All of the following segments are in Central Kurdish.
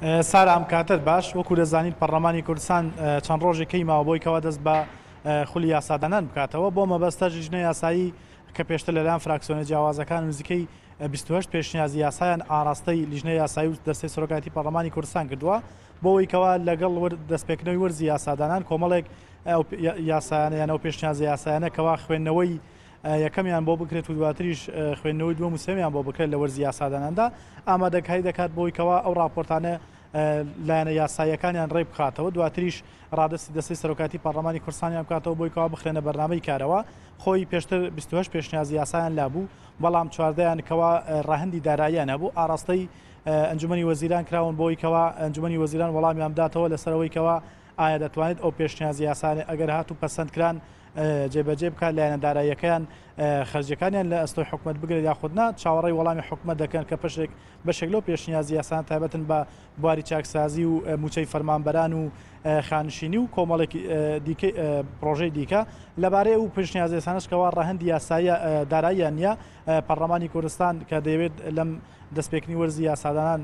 سارا ئەم کاتەت باش، وەکو دەزانیت پەڕلەمانی کوردستان چەند ڕۆژێک کەی ماوە بۆی کەوا دەست بە خولی یاسادانان بکاتەوە، بۆ مەبەستەش لیژنەی یاسایی کە پێشتر لەلایەن فراکسیۆنە جیاوازەکان نزیکەی 28 پێشنیازی یاسایان ئاراستەی لیژنەی یاسایی و دەستەی سەرۆکایەتی پەڕلەمانی کوردستان کردووە بۆ ئەوەی کەوا لەگەڵ دەستپێکردنەوەی وەرزی یاسادانان کۆمەڵێک ئەو یاسایانە یان ئەو پێشنیازە یاسایانە کەوا خوێندنەوەی یەکەمیان بۆ بکرێت و دواتریش خوێندنەوەی دووەم و سێمیان بۆ بکرێت لە وەرزی یاساداناندا ئامادەکاری دەکات بۆی کەوا ئەو راپۆرتانە لایەنە یاساییەکانیان ڕێک بخاتەوە دواتریش ڕادەستی دەستەی سەرۆکایەتی پەرلەمانی کوردستانیان بکاتەوە بۆی کەوا بخرێنە بەرنامەی کارەوە خۆی پێشتر 28 پێشنیازی یاسایان لابوو بەڵام چواردەیان کەوا ڕەهەندی داراییان هەبوو ئاراستەی ئەنجومەنی وەزیران کراون بۆی کەوا ئەنجومەنی وەزیران وەڵامیان بداتەوە لەسەر ئەوەی کەوا ئایا دەتوانێت ئەو پێشنیازی یاسانە ئەگەر هاتوو پەسەند کران جێبەجێ بکات لایەنە داراییەکەیان خەرجیەکانیان لە ئەستۆی حکومەت بگرێت یاخود نا چاوەڕێی وەڵامی حکومەت دەکەن کە پشێک بەشێک لەو پێشنیازی یاسانە تایبەتن بە بواری چاکسازی و مووچەی فەرمانبەران و خانشینی و کۆمەڵێک دیکەی پرۆژەی دیکە لەبارەی ئەو پێشنیازی یاسانەش کەوا ڕەهەندی یاسایی داراییان نییە پەرلەمانی کوردستان کە دەیەوێت لەم دەستپێکردنی وەرزی یاسادانان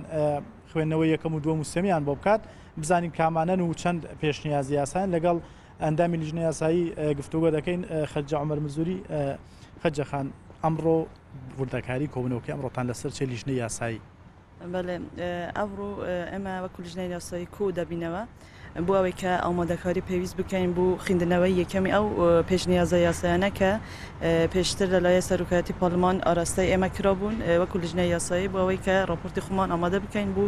خوێندنەوەی یەکەم و دووەم و سێمیان بۆ بکات بزانین کامانەن و چەند پێشنیازی یاسایان لەگەڵ ئەندامی لیژنەی یاسایی گفتوگۆ دەکەین خەجە عومەر مزوری خەجە خان ئەمڕۆ وردەکاری کۆبوونەوەکەی ئەمڕۆتان لەسەر چێ لیژنەی یاسایی؟ بەڵێ ئەمڕۆ ئێمە وەکو لیژنەی یاسایی کۆ دەبینەوە بۆ ئەوەی کە ئامادەکاری پێویست بکەین بۆ خوێندنەوەی یەکەمی ئەو پێشنیازە یاسایانە کە پێشتر لەلایەن سەرۆکایەتی پارلمان ئاراستەی ئێمە کرابوون وەکو لیژنەی یاسایی بۆ ئەوەی کە راپۆرتی خۆمان ئامادە بکەین بۆ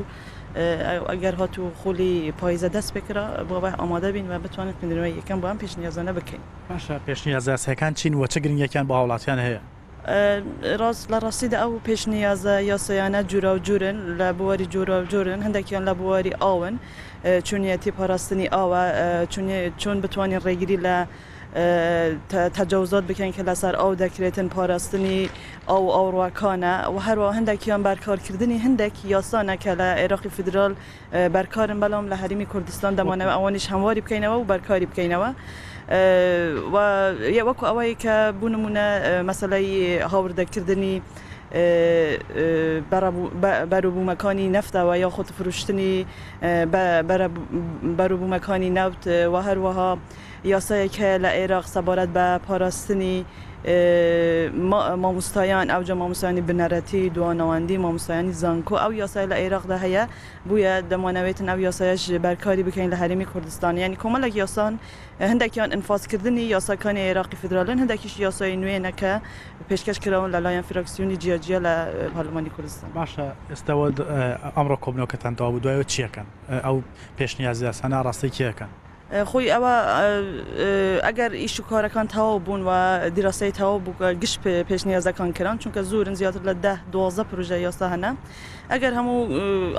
ئەگەر هاتوو خولی پاییزە دەست پێکرا بۆ ئەوەی ئامادە بین و بتوانین خوێندنەوەی یەکەم بۆ ئەم پێشنیازانە بکەین. باشە پێشنیازە یاسایەکان چین و چ گرنگیەکیان بۆ هاوڵاتیان هەیە؟ ڕاست لە ڕاستیدا ئەو پێشنیازە یاسایانە جوراوجورن لە بواری جۆراوجۆرن هەندێکیان لە بواری ئاون چۆنیەتی پاراستنی ئاوە چۆن بتوانین ڕێگری لە تەجاوزات بکەین کە لەسەر ئاو دەکرێتن پاراستنی ئاو و ئاوڕوەکانە و هەروەها هەندێکیان بەرکارکردنی هەندێک یاسانە کە لە عێراقی فیدرال بەرکارن بەڵام لە هەرێمی کوردستان دەمانەوە ئەوانیش هەمواری بکەینەوە و بەرکاری بکەینەوە و وەکو ئەوەی کە بۆ نمونە مەسەلەی هاوردەکردنی بەروبوومەکانی نەفتەوە یاخود فرۆشتنی بەروبوومەکانی نەوت و هەروەها یاسایەک هەیە لە عێراق سەبارەت بە پاراستنی مامۆستایان ئەوجا مامۆستایانی بنەرەتی دواناوەندی مامۆستایانی زانکۆ ئەو یاسایە لە عێراقدا هەیە بویە دەمانەوێتن ئەو یاسایەش بەرکاری بکەین لە هەرێمی کوردستان یانی کۆمەڵێک یاسان هەندێکیان ئینفازکردنی یاساکانی عێراقی فیدرالن هەندێکیش یاسای نوێنە کە پێشکەش کراون لەلایەن فراکسیۆنی جیاجیا لە پەرلەمانی کوردستان. باشە ئێستا ئەمڕۆ کۆبنەوەکەتان تەواو بوو دوایەوە چیەکەن ئەو پێشنیاز یاسانە ئاڕاستەی کێ ئەکەن؟ خۆی ئەوە ئەگەر ئیش و کارەکان تەواو بوون و دیراسەی تەواو بوو گشت پێشنیازەکان کران چونکە زۆرن زیاتر لە دە دوازدە پرۆژە یاسا هەنە ئەگەر هەموو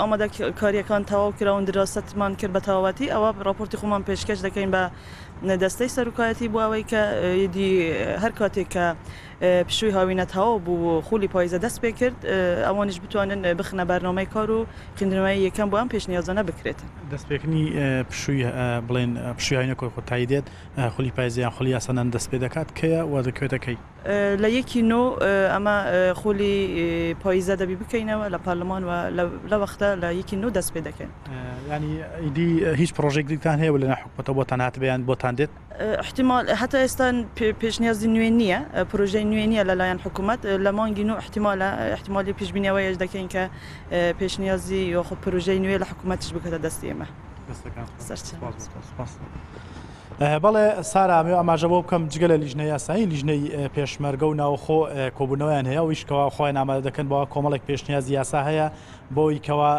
ئامادەکاریەکان تەواو کراون دیراسەتمان کرد بە تەواوەتی ئەوە راپۆرتی خۆمان پێشکەش دەکەین بە دەستەی سەرۆکایەتی بۆ ئەوەی کە یدی هەر کاتێک کە پشووی هاوینە تەواو بوو و خولی پاییزە دەست پێ کرد ئەوانیش بتوانن بخنە بەرنامەی کار و خوێندنەوەی یەکەم بۆ ئەم پێشنیازانە بکرێت. دەستپێکردنی پشووی بڵێن پشووی هاوینە کۆتایی دێت، خولی پاییزە یان خولی یاسادان دەست پێ دەکات کەیە و دەکەوێتە کەی؟ لە یەکی نۆ ئەمە خولی پاییزە دەبی بکەینەوە لە پەرلەمان و لە وەختە لە یەکی نۆ دەست پێ دەکەین. یانی ئیدی هیچ پڕۆژەیەک دیکتان هەیە و لەناو حکومەتەوە بۆتان هاتبێ یان بۆتان دێت؟ احتمال هەتا ئێستا پێشنیازی نوێ نییە، پرۆژەی نوێ نییە لەلایەن حکوومەت، لە مانگی نۆ احتمالە، احتمالی پێشبینی ئەوەیش دەکەین کە پێشنیازی یاخود پرۆژەی نوێ لە حکوومەتیش بکاتە دەستی ئێمە. دەستەکان خۆش. سپاس. بەڵێ سارا ئەمەوێ ئاماژە بۆ بکەم جگە لە لیژنەی یاسایی لیژنەی پێشمەرگە و ناوخۆ کۆبوونەوەیان هەیە ئەویش کەوا خۆیان ئامادە دەکەن بۆ کۆمەڵێک پێشنیازی یاسا هەیە بۆی کەوا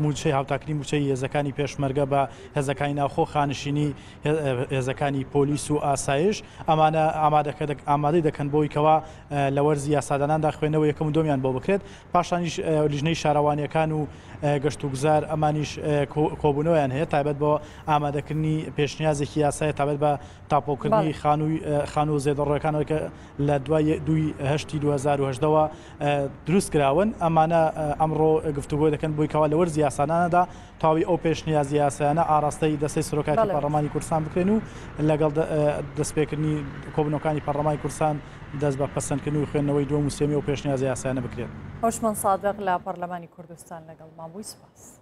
مووچەی هاوتاکردنی مووچەی هێزەکانی پێشمەرگە بە هێزەکانی ناوخۆ خانشینی هێزەکانی پۆلیس و ئاسایش ئەمانە ئامادەی دەکەن بۆی کەوا لە وەرزی یاساداناندا خوێندنەوە یەکەم و دووەمیان بۆ بکرێت پاشانیش لیژنەی شارەوانیەکان و گەشتوگوزار ئەمانیش کۆبوونەوەیان هەیە تایبەت بۆ ئامادەکردنی پێشنیازێکی یاسای تایبەت بە تاپۆکردنی خانووی خانوو زێدەڕۆیەکانەوە کە لە دوای دووی هەشتی 2010ەوە دروست کراون ئەمانە ئەمڕۆ گفتوگۆ دەکەن بۆی کەوا لە وەرزی یاسانانەدا تەواوی ئەو پێشنیازی یاسایانە ئاراستەی دەستەی سەرۆکایەتی پەرلەمانی کوردستان بکرێن و لەگەڵ دەستپێکردنی کۆبوونەوەکانی پەرلەمانی کوردستان دەست بە پەسەندکردن و خوێندنەوەی دووەم و سێیەمی ئەو پێشنیازە یاسایانە بکرێت. هۆشمەند سادق لە پەرلەمانی کوردستان لەگەڵمان بووی، سوپاس.